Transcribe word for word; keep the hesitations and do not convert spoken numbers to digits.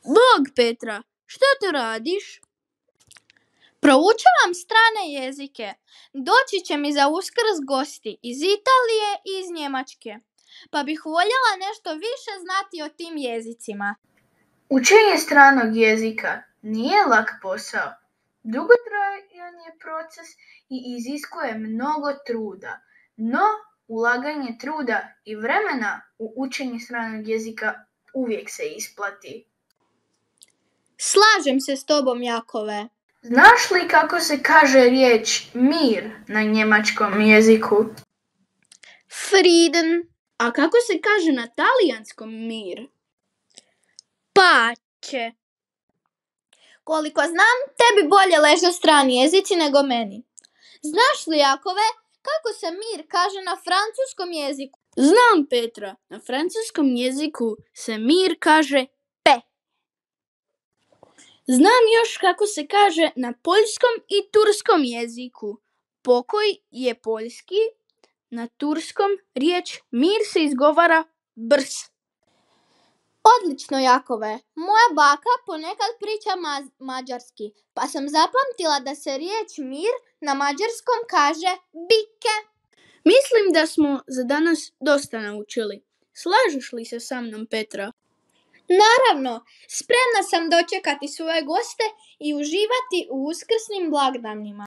Bog, Petra, što tu radiš? Proučavam strane jezike. Doći će mi za Uskrs gosti iz Italije i iz Njemačke, pa bih voljela nešto više znati o tim jezicima. Učenje stranog jezika nije lak posao. Dugotrajan je proces i iziskuje mnogo truda, no ulaganje truda i vremena u učenje stranog jezika uvijek se isplati. Slažem se s tobom, Jakove. Znaš li kako se kaže riječ mir na njemačkom jeziku? Frieden. A kako se kaže na talijanskom mir? Pace. Koliko znam, tebi bolje leže strani jezici nego meni. Znaš li, Jakove, kako se mir kaže na francuskom jeziku? Znam, Petra. Na francuskom jeziku se mir kaže pe. Znam još kako se kaže na poljskom i turskom jeziku. Pokoj je poljski, na turskom riječ mir se izgovara brs. Odlično, Jakove. Moja baka ponekad priča ma- mađarski, pa sam zapamtila da se riječ mir na mađarskom kaže bike. Mislim da smo za danas dosta naučili. Slažeš li se sa mnom, Petra? Naravno, spremna sam dočekati svoje goste i uživati u uskrsnim blagdanima.